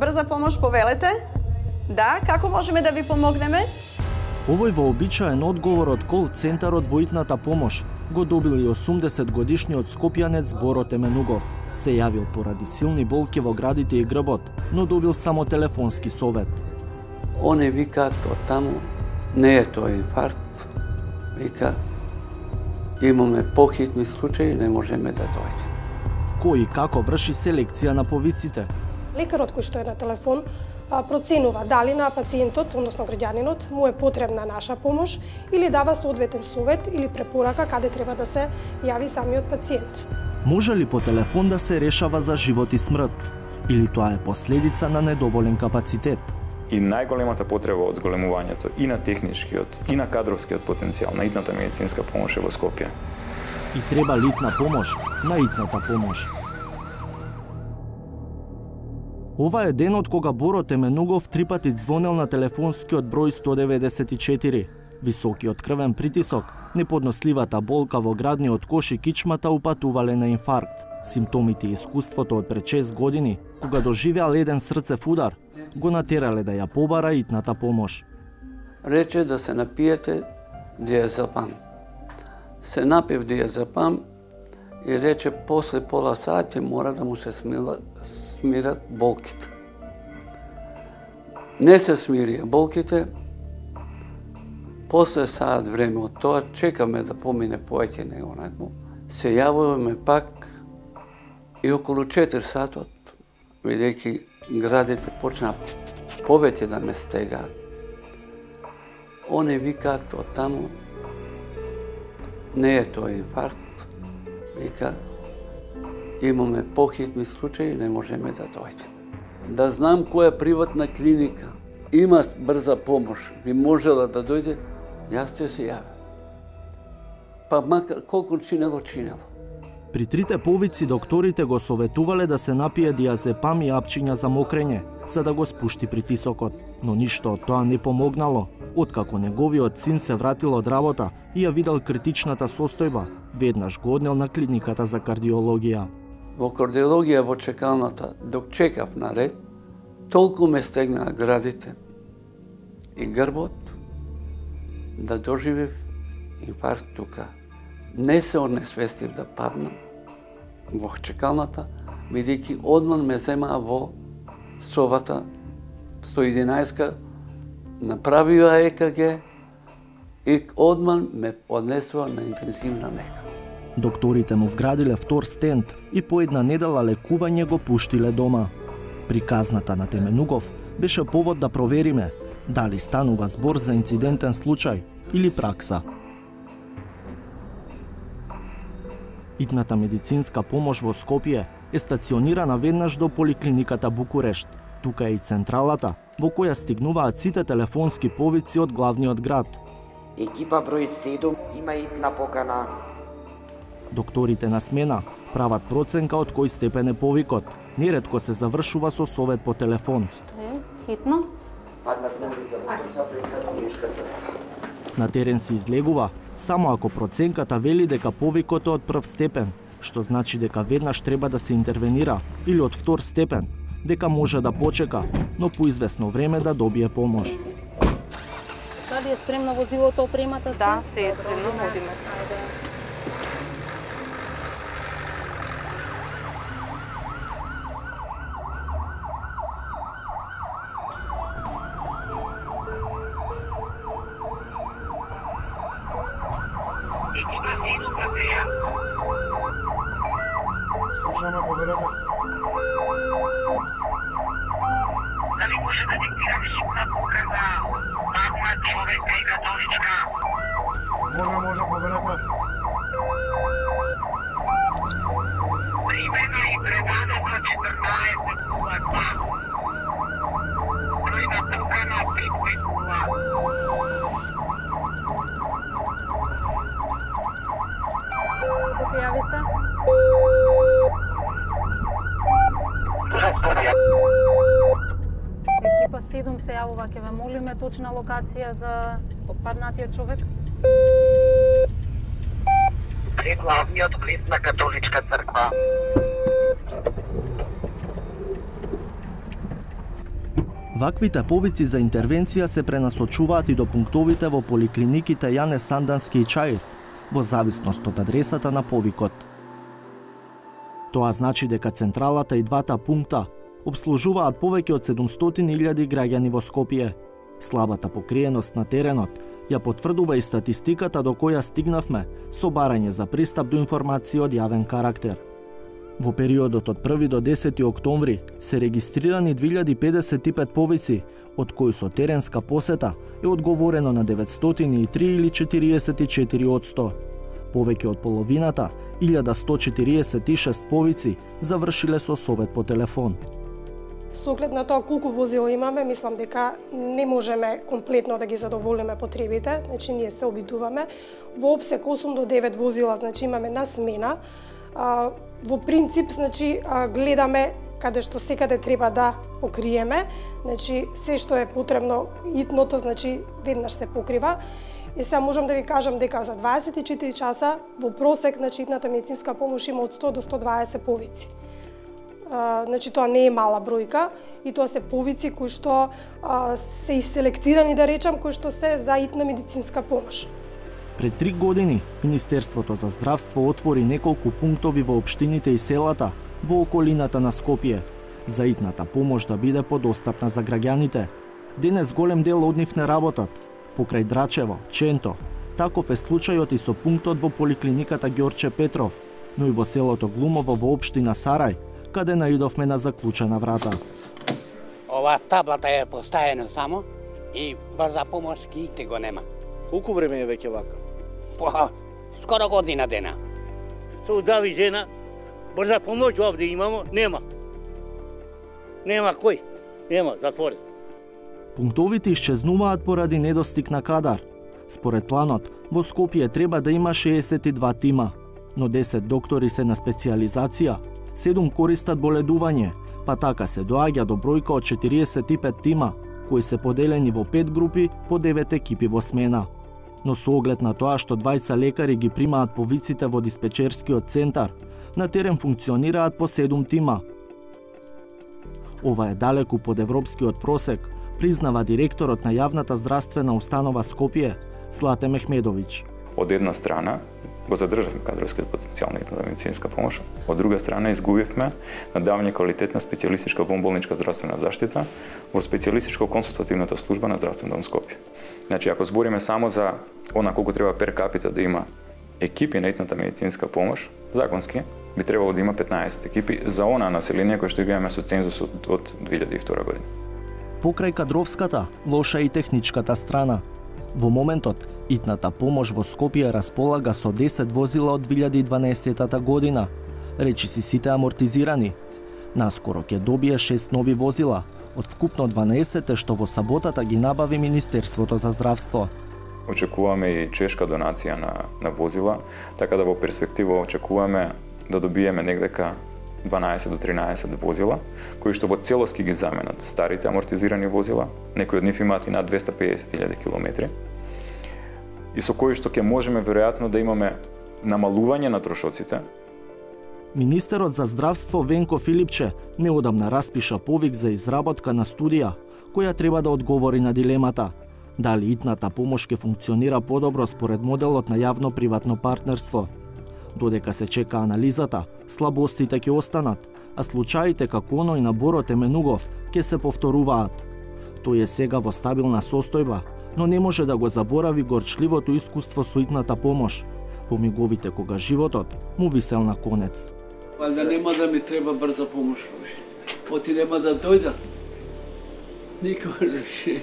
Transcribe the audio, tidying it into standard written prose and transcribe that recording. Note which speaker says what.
Speaker 1: Брза помош, повелете. Да, како можеме да ви помогнеме?
Speaker 2: Овој вообичаен одговор од кол центарот во итната помош го добил и 80-годишниот скопјанец Боро Теменугов. Се јавил поради силни болки во градите и грбот, но добил само телефонски совет.
Speaker 3: Они викаат од таму, не е тоа инфаркт, вика, имаме похитни случаи, не можеме да дојдеме.
Speaker 2: Кој и како врши селекција на повиците?
Speaker 4: Лекарот кој што е на телефон проценува дали на пациентот, односно граѓанинот, му е потребна наша помош или дава соодветен совет или препорака каде треба да се јави самиот пациент.
Speaker 2: Може ли по телефон да се решава за живот и смрт? Или тоа е последица на недоволен капацитет?
Speaker 5: И најголемата потреба од зголемувањето и на техничкиот, и на кадровскиот потенцијал на итната медицинска помош е во Скопје.
Speaker 2: И треба литна помош на итната помош. Ова е денот кога Боро Теменугов 3 пати звонел на телефонскиот број 194. Високиот крвен притисок, неподносливата болка во градниот кош и кичмата упатувале на инфаркт. Симптомите и искуството од пред 6 години, кога доживеал еден срцев удар, го натерале да ја побара итната помош.
Speaker 3: Рече да се напиете диазепам. Се напив диазепам и рече после пола сати мора да му се смират болките. Не се смирија болките. После саат време од тоа чекаме да помине повеќе него некој. Се јавуваме пак и околу 4 сатот, бидејќи градите почна повеќе да ме стегаат. Они викаат од таму, не е тоа инфаркт, вика, имаме похитни случаи, не можеме да дојдеме. Да знам која приватна клиника има брза помош, би можела да дојде, јас ќе се јавам. Па макар колку чинело.
Speaker 2: При трите повици докторите го советувале да се напие диазепам и апчиња за мокрење, за да го спушти притисокот. Но ништо од тоа не помогнало, откако неговиот син се вратил од работа и ја видел критичната состојба, веднаш го однел на клиниката за кардиологија.
Speaker 3: Во кардиологија во чекалната, док чекав на ред, толку ме стегнаа градите и грбот, да доживев инфаркт тука. Не се онесвестив да паднам во чекалната, бидејќи одман ме земаа во совата 111, направија ЕКГ и одман ме однесува на интензивна нега.
Speaker 2: Докторите му вградиле втор стент и по една недела лекување го пуштиле дома. Приказната на Теменугов беше повод да провериме дали станува збор за инцидентен случај или пракса. Итната медицинска помош во Скопје е стационирана веднаш до поликлиниката Букурешт. Тука е и централата, во која стигнуваат сите телефонски повици од главниот град.
Speaker 6: Екипа број 7 има итна покана.
Speaker 2: Докторите на смена прават проценка од кој степен е повикот. Неретко се завршува со совет по телефон.
Speaker 7: Што е? Хитно?
Speaker 2: На терен се излегува само ако проценката вели дека повикот е од прв степен, што значи дека веднаш треба да се интервенира, или од втор степен, дека може да почека, но по известно време да добие помош.
Speaker 7: Дали е спремно возилото, опремата се?
Speaker 1: Да, се е спремно, водиме.
Speaker 8: Слушаме, победата.
Speaker 9: Дали може да диктираш на покана падна човека и католичка?
Speaker 8: Може, победата.
Speaker 9: Примено и предадено 14:02. Број на покана 550.
Speaker 7: Скопје, јави се. Екипа 7 се јавува, ќе ве молиме точна локација за паднатиот човек.
Speaker 9: При главниот влез на католичка црква.
Speaker 2: Ваквите повици за интервенција се пренасочуваат и до пунктовите во поликлиниките Јане Сандански и Чаир, во зависност од адресата на повикот. Тоа значи дека централата и двата пункта обслужуваат повеќе од 700.000 граѓани во Скопје. Слабата покриеност на теренот ја потврдува и статистиката до која стигнавме со барање за пристап до информација од јавен карактер. Во периодот од 1 до 10 октомври се регистрирани 2055 повици, од кои со теренска посета е одговорено на 903 или 44%. Повеќе од половината, 1146 повици, завршиле со совет по телефон.
Speaker 4: Со оглед на тоа колку возила имаме, мислам дека не можеме комплетно да ги задоволиме потребите, значи ние се обидуваме. Во опсек 8 до 9 возила, значи имаме на смена. Во принцип, значи гледаме каде што секаде треба да покриеме, значи се што е потребно итното, значи веднаш се покрива. И сега можам да ви кажам дека за 24 часа во просек, значи итната медицинска помош има од 100 до 120 повици. Значи тоа не е мала бројка и тоа се повици кои што се иселектирани, да речам, кои што се за итна медицинска помош.
Speaker 2: Пред 3 години Министерството за здравство отвори неколку пунктови во општините и селата во околината на Скопје за итната помош да биде подостапна за граѓаните. Денес голем дел од нив не работат. Покрај Драчево, Ченто, таков е случајот и со пунктот во поликлиниката Ѓорче Петров, но и во селото Глумово во општина Сарај, каде наидовме на заклучена врата.
Speaker 10: Ова таблата е поставена само и брза помош никде го нема.
Speaker 2: Колку време е веќе вака?
Speaker 10: Скоро година дена.
Speaker 11: Се удави жена, брза помош овде имамо, нема. Нема кој, нема, затворен.
Speaker 2: Пунктовите исчезнуваат поради недостиг на кадар. Според планот, во Скопје треба да има 62 тима, но 10 доктори се на специјализација, 7 користат боледување, па така се доаѓа до бројка од 45 тима, кои се поделени во 5 групи по 9 екипи во смена. Но со оглед на тоа што 20 лекари ги примаат повиците во диспечерскиот центар, на терен функционираат по 7 тима. Ова е далеку под европскиот просек, признава директорот на јавната здравствена установа Скопје, Злате Мехмедовиќ.
Speaker 5: Од една страна го задржавме кадровскиот потенцијал на итната медицинска помош, од друга страна изгубивме на давање квалитетна специјалистичка вонболничка здравствена заштита во специјалистичко-консултативната служба на Здравствен дом Скопје. Значи, ако збориме само за она колку треба пер капита да има екипи на итната медицинска помош, законски би требало да има 15 екипи за она население кој што го имаме со цензусот од 2002 година.
Speaker 2: Покрај кадровската, лоша и техничката страна. Во моментот, итната помош во Скопје располага со 10 возила од 2012 година, речиси сите амортизирани. Наскоро ќе добие 6 нови возила, од вкупно 12 што во саботата ги набави Министерството за здравство.
Speaker 5: Очекуваме и чешка донација на возила, така да во перспектива очекуваме да добиеме негдека 12 до 13 возила, кои што во целост ги заменат старите амортизирани возила, некои од нив имаат и над 250.000 километри, и со кои што ќе можеме веројатно да имаме намалување на трошоците.
Speaker 2: Министерот за здравство Венко Филипче неодамна распиша повик за изработка на студија, која треба да одговори на дилемата дали итната помош ќе функционира подобро според моделот на јавно-приватно партнерство. Додека се чека анализата, слабостите ќе останат, а случаите како оној на Боро Теменугов ќе се повторуваат. Тој е сега во стабилна состојба, но не може да го заборави горчливото искуство со итната помош, во миговите кога животот му висел на конец.
Speaker 3: Да нема да ми треба брза помош, оти нема да дојдат. Никога не.